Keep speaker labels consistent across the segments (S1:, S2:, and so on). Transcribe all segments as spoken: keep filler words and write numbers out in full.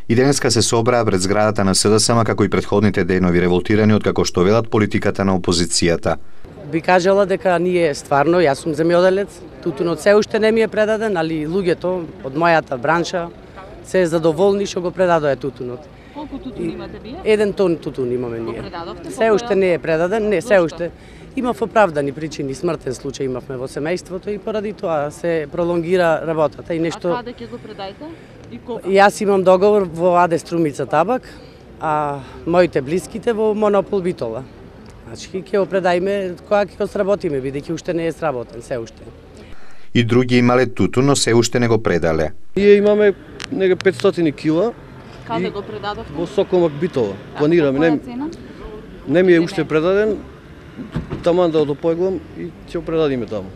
S1: И денеска се собраа пред зградата на СДСМ како и претходните денови револтирани од како што велат политиката на опозицијата.
S2: Би кажала дека ние стварно, јас сум земјоделец, тутунот се уште не ми е предаден, али луѓето од мојата бранша се задоволни што го предадоа тутунот.
S3: Колку тутун имате вие?
S2: Еден тон тутун имаме ние.
S3: Предадовте?
S2: Се уште не е предаден, не, се уште. Имав оправдани причини, смртен случај имавме во семејството и поради тоа се пролонгира работата и нешто.
S3: А каде ќе го предајте? И кога?
S2: Јас имам договор во АД Струмица Табак, а моите блиските во Монопол Битола. Значи ќе го предајме кога ќе го сработиме, бидејќи уште не е сработен, се уште.
S1: И други имале тутун, но се уште не го предале.
S4: Ние имаме нега петстотини кила.
S3: Каде го предадовте?
S4: Во Сокомак Битола. Планираме.
S3: А
S4: Не,
S3: цена?
S4: не ми е уште предаден. Таман да одопојглам и ќе го предадиме таму.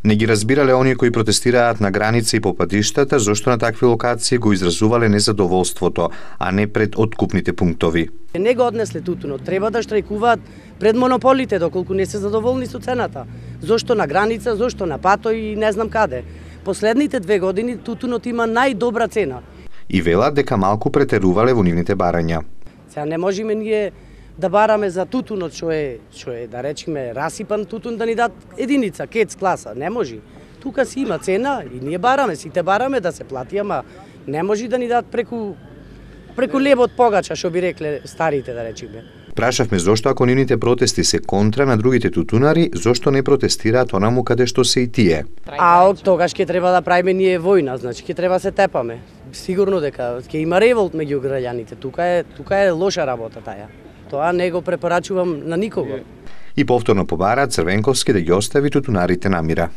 S1: Не ги разбирале оние кои протестираат на граница и по патиштата, зошто на такви локации го изразувале незадоволството, а не пред откупните пунктови.
S2: Не го однесле тутунот, треба да штрајкуваат пред монополите доколку не се задоволни со цената. Зошто на граница, зошто на пато и не знам каде. Последните две години тутунот има најдобра цена.
S1: И велат дека малку претерувале во нивните барања.
S2: Сега не можеме ние да бараме за тутунот што е, што е да речеме расипан тутун да ни дат единица, кец класа, не може. Тука си има цена и ние бараме, сите бараме да се плати, ама не може да ни дат преку преку лебот погача, што би рекле старите да речеме.
S1: Прашавме зошто ако нивните протести се контра на другите тутунари, зошто не протестираат онаму каде што се и тие.
S2: А тогаш ќе треба да правиме ние војна, значи ќе треба се тепаме. Сигурно дека ќе има револт меѓу граѓаните. Тука е тука е лоша работа таја. Тоа не го препорачувам на никого.
S1: И повторно побараат Црвенковски да ги остави тутунарите на мира.